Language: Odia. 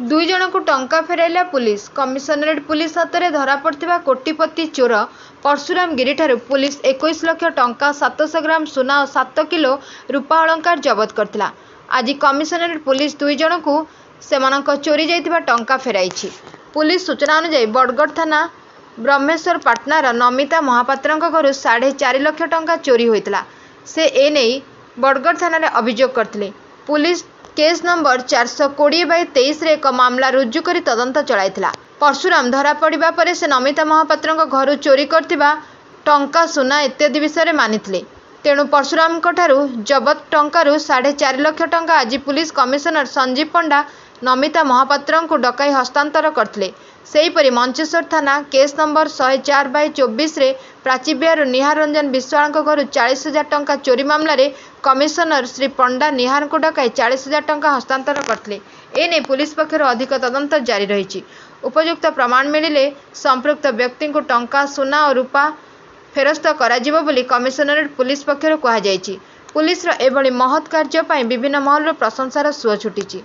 ଦୁଇ ଜଣଙ୍କୁ ଟଙ୍କା ଫେରାଇଲା ପୁଲିସ। କମିଶନରେଟ୍ ପୁଲିସ ହାତରେ ଧରାପଡ଼ିଥିବା କୋଟିପତି ଚୋର ପର୍ଶୁରାମ ଗିରିଠାରୁ ପୁଲିସ 21 ଲକ୍ଷ ଟଙ୍କା, 700 ଗ୍ରାମ ସୁନା ଓ 7 କିଲୋ ରୂପା ଅଳଙ୍କାର ଜବତ କରିଥିଲା। ଆଜି କମିଶନରେଟ୍ ପୁଲିସ ଦୁଇ ଜଣଙ୍କୁ ସେମାନଙ୍କ ଚୋରି ଯାଇଥିବା ଟଙ୍କା ଫେରାଇଛି। ପୁଲିସ ସୂଚନା ଅନୁଯାୟୀ, ବଡ଼ଗଡ଼ ଥାନା ବ୍ରହ୍ମେଶ୍ୱରପାଟଣାର ନମିତା ମହାପାତ୍ରଙ୍କ ଘରୁ 4.5 ଲକ୍ଷ ଟଙ୍କା ଚୋରି ହୋଇଥିଲା। ସେ ଏନେଇ ବଡ଼ଗଡ଼ ଥାନାରେ ଅଭିଯୋଗ କରିଥିଲେ। ପୁଲିସ କେସ୍ ନମ୍ବର 420/23ରେ ଏକ ମାମଲା ରୁଜୁ କରି ତଦନ୍ତ ଚଳାଇଥିଲା। ପର୍ଶୁରାମ ଧରାପଡ଼ିବା ପରେ ସେ ନମିତା ମହାପାତ୍ରଙ୍କ ଘରୁ ଚୋରି କରିଥିବା ଟଙ୍କା, ସୁନା ଇତ୍ୟାଦି ବିଷୟରେ ମାନିଥିଲେ। ତେଣୁ ପର୍ଶୁରାମଙ୍କଠାରୁ ଜବତ ଟଙ୍କାରୁ 4.5 ଲକ୍ଷ ଟଙ୍କା ଆଜି ପୁଲିସ କମିଶନର ସଞ୍ଜୀବ ପଣ୍ଡା ନମିତା ମହାପାତ୍ରଙ୍କୁ ଡକାଇ ହସ୍ତାନ୍ତର କରିଥିଲେ। ସେହିପରି ମଞ୍ଚେଶ୍ୱର ଥାନା କେସ୍ ନମ୍ବର 104/24ରେ ପ୍ରାଚୀବିହାରରୁ ନିହାର ରଞ୍ଜନ ବିଶ୍ୱାଳଙ୍କ ଘରୁ 40 ହଜାର ଟଙ୍କା ଚୋରି ମାମଲାରେ କମିଶନର ଶ୍ରୀ ପଣ୍ଡା ନିହାରଙ୍କୁ ଡକାଇ 40 ହଜାର ଟଙ୍କା ହସ୍ତାନ୍ତର କରିଥିଲେ। ଏନେଇ ପୁଲିସ ପକ୍ଷରୁ ଅଧିକ ତଦନ୍ତ ଜାରି ରହିଛି। ଉପଯୁକ୍ତ ପ୍ରମାଣ ମିଳିଲେ ସମ୍ପୃକ୍ତ ବ୍ୟକ୍ତିଙ୍କୁ ଟଙ୍କା, ସୁନା ଓ ରୂପା ଫେରସ୍ତ କରାଯିବ ବୋଲି କମିଶନରେଟ୍ ପୁଲିସ ପକ୍ଷରୁ କୁହାଯାଇଛି। ପୁଲିସର ଏଭଳି ମହତ୍ କାର୍ଯ୍ୟ ପାଇଁ ବିଭିନ୍ନ ମହଲରୁ ପ୍ରଶଂସାର ସୁଅ ଛୁଟିଛି।